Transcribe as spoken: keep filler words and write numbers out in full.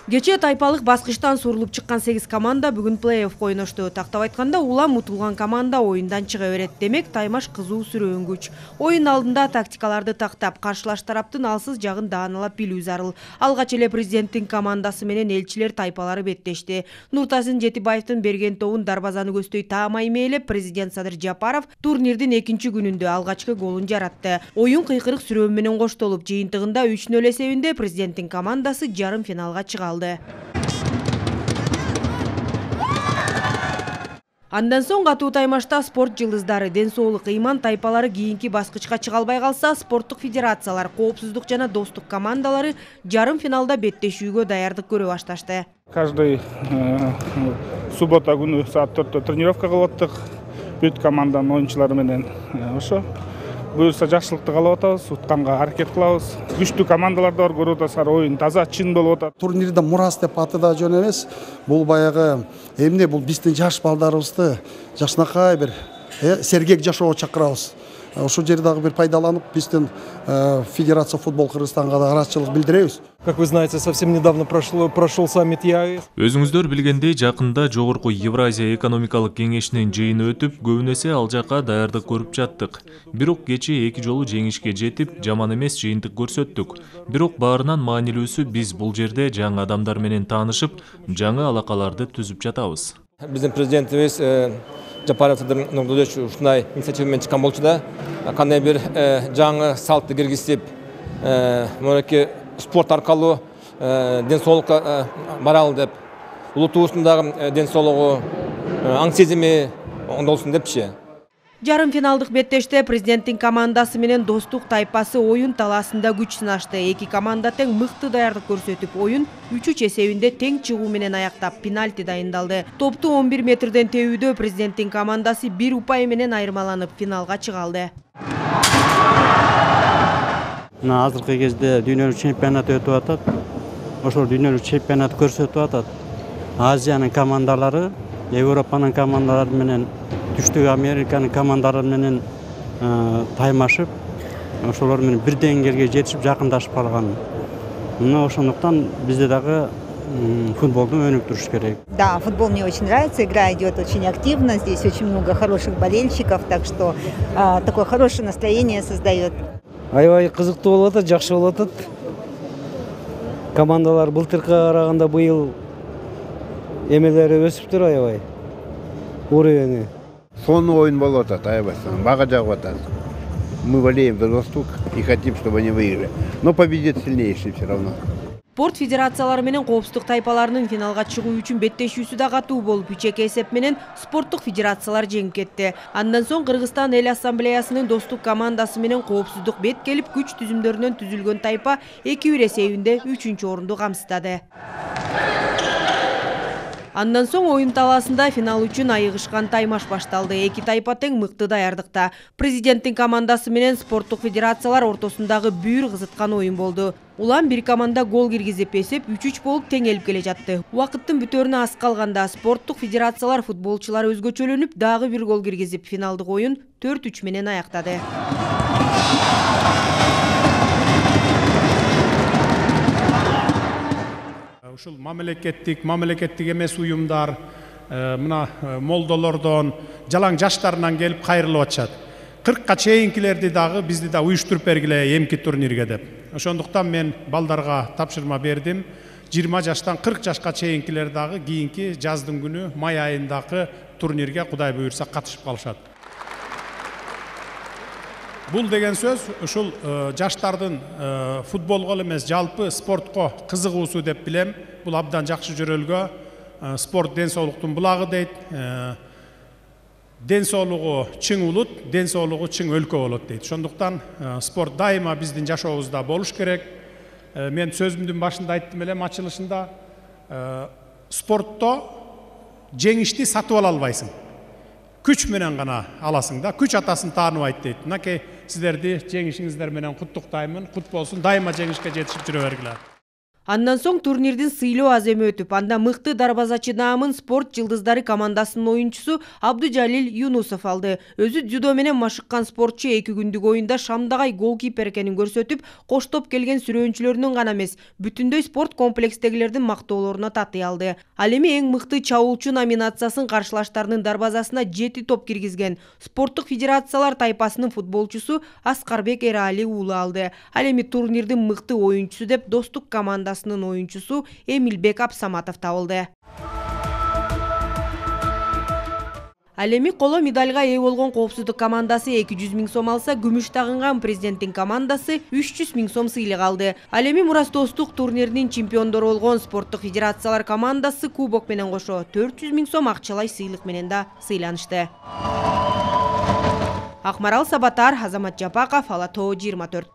Кечээ тайпалык баскычтан сурулуп чыккан сегиз команда бүгүн плей-оффко ойношту. Тактап айтканда, улам утулган команда оюндан чыга берет. Демек, таймаш кызуу сүрөөнгүч. Оюн алдында тактикаларды тактап, каршылаш тараптын алсыз жагын даанылап билүү зарыл. Алгач эле президенттин командасы менен элчилер тайпалары беттешти. Нуртазин Жетибаевдин берген тобун дарбазаны көздөй таамай мээлеп, президент Садыр Жапаров турнирдин экинчи күнүндө алгачкы голун жаратты. Оюн кыйкырык сүрөө менен коштолуп, жыйынтыгында үч нөл эсебинде президенттин командасы жарым финалга чыга алды. Андан соң катуу таймашта спорт жылдыздары, ден соолук ыйман тайпалары кийинки баскычка чыга албай калса, спорттук федерациялар, коопсуздук жана достук командалары жарым финалда беттешүүгө даярдык көрө башташты. Каждый суббота күнү саат төрттө тренировка кылып аттык. Бүт команданын оюнчулары менен ошо буюрса жакшылыкты каалап атабыз, утканга аракет кылабыз. Күчтүү командалар да бар, көрүп атасыздар, оюн таза, чын болуп атат. Турнирде мурас деп аты да жөн эмес. Бул баягы эмне бул биздин жаш балдарыбызды жакшынакай бир сергек жашоого чакырабыз. Ошол жерде дагы бир пайдаланып, биздин Федерация футбол Кыргызстанга да ыраазычылык билдиребиз. Как вы знаете, совсем недавно прошел, прошел саммит ЕАЭС. Өзүңүздөр билгендей, жакында жогорку Евразия экономикалык кеңешинин жыйыны өтүп, көбүн эсе ал жакка даярдык көрүп жаттык. Бирок кечээ эки жолу жеңишке жетип, жаман эмес жыйынтык көрсөттүк. Бирок баарынан маанилүүсү биз бул жерде жаңы адамдар менен таанышып, жаңы алакаларды түзүп жатабыз. Биздин президентибиз Жапаров Садыр Нурдулович ушундай инициатива менен чыккан болчу да, кандай бир жаңы салтты киргизип, мынакей спорт аркылуу ден соолукка баралы деп, улутубуздун дагы ден соолугу, аң сезими оңдолсун депчи. Жарым финалдык беттеште президенттин командасы менен достук тайпасы оюн талаасында күч сынашты. Эки команда тең мыкты даярдык көрсөтүп, оюн үч үч эсебинде тең чыгуу менен аяктап, пенальти дайындалды. Топту он бир метрден тебүүдө президенттин командасы бир упай менен айырмаланып, финалга чыга алды. Мына азыркы кезде дүйнөлүк чемпионат өтүп атат. Ошол дүйнөлүк чемпионат көрсөтүп атат. Азиянын командалары, Европанын командалары менен, Түштүк Американын командалары менен таймашып, ошолор менен бир деңгээлге жетишип, жакындашып калган. Мына ошондуктан бизде дагы футболду өнүктүрүш керек. Да, футбол мне очень нравится, игра идет очень активно, здесь очень много хороших болельщиков, так что а, такое хорошее настроение создает. Аябай кызыктуу болуп атат, жакшы болуп атат. Командалар былтыркыга караганда быйыл эмелери өсүптүр аябай. Уровени. Сонный оюн болуп атат, аябай, бага жагып атат. Мы болеем за Восток и хотим, чтобы они выиграли. Но победит сильнейший все равно. Спорт федерациялары менен коопсуздук тайпаларынын финалга чыгуу үчүн беттешүүсү да катуу болуп, үч эки эсеп менен спорттук федерациялар жеңип кетти. Андан соң Кыргызстан эл ассамблеясынын достук командасы менен коопсуздук бет келип, күч түзүмдөрүнөн түзүлгөн тайпа эки бир эсебинде үчүнчү орунду камсыздады. Андан соң оюн талаасында финал үчүн айыгышкан таймаш башталды. Эки тайпа тең мыкты даярдыкта. Президенттин командасы менен спорттук федерациялар ортосундагы бүйүр кызыткан оюн болду. Улам бир команда гол киргизип, эсеп үч үч болуп теңелип келе жатты. Убакыттын бүтөрүнө аз калганда спорттук федерациялар футболчулары өзгөчөлөнүп, дагы бир гол киргизип, финалдык оюн төрт үч менен аяктады. Ушул мамлекеттик, мамлекеттик эмес уюмдар, мына молдолордон, жалаң жаштарынан келип кайрылып атышат. кыркка чейинкилерди дагы бизди да уюштуруп бергиле эмки турнирге деп. Ошондуктан мен балдарга тапшырма бердим. жыйырма жаштан кырк жашка чейинкилер дагы кийинки жаздын күнү май айындагы турнирге Кудай буйрса катышып калышат. Бул деген сөз ушул жаштардын футболго эмес, жалпы спортко кызыгуусу деп билем. Бул абдан жакшы жөрөлгө. Спорт ден соолуктун булагы дейт. Ден соолугу чың улут, ден соолугу чың өлкө болот дейт. Ошондуктан спорт дайыма биздин жашообузда болуш керек. Мен сөзүмдүн башында айттым элем, ачылышында, спортто жеңишти сатып ала албайсың. Күч менен гана аласың да, күч атасын тааныбайт дейт. Мынакей сиздерди жеңишиңиздер менен куттуктаймын. Кут болсун, дайыма жеңишке жетишип жүрө бергиле. Андан соң турнирдин сыйлоо аземи өтүп, анда мыкты дарбазачы наамын спорт жылдыздары командасынын оюнчусу Абдужалил Юнусов алды. Өзү дзюдо менен машыккан спортчу эки күндүк оюнда шамдагай голкипер экенин көрсөтүп, коштоп келген сүрөөнчүлөрүнүн гана эмес, бүтүндөй спорт комплекстегилердин мактоолоруна татый алды. Ал эми эң мыкты чабуулчу номинациясын каршылаштарынын дарбазасына жети топ киргизген спорттук федерациялар тайпасынын футболчусу Аскарбек Эрали уулу алды. Ал эми турнирдин мыкты оюнчусу деп Достук командасынын оюнчусу Эмилбек Абсаматов табылды. Ал эми коло медальга ээ болгон коопсуздук командасы эки жүз миң сом алса, күмүш тагынган президенттин командасы үч жүз миң сом сыйлык алды. Ал эми Мурас Достук турниринин чемпиондору болгон спорттук федерациялар командасы кубок менен кошо төрт жүз миң сом акчалай сыйлык менен да сыйланышты. Акмарал Сабатар, Азамат Жапаков, Ала Тоо жыйырма төрт.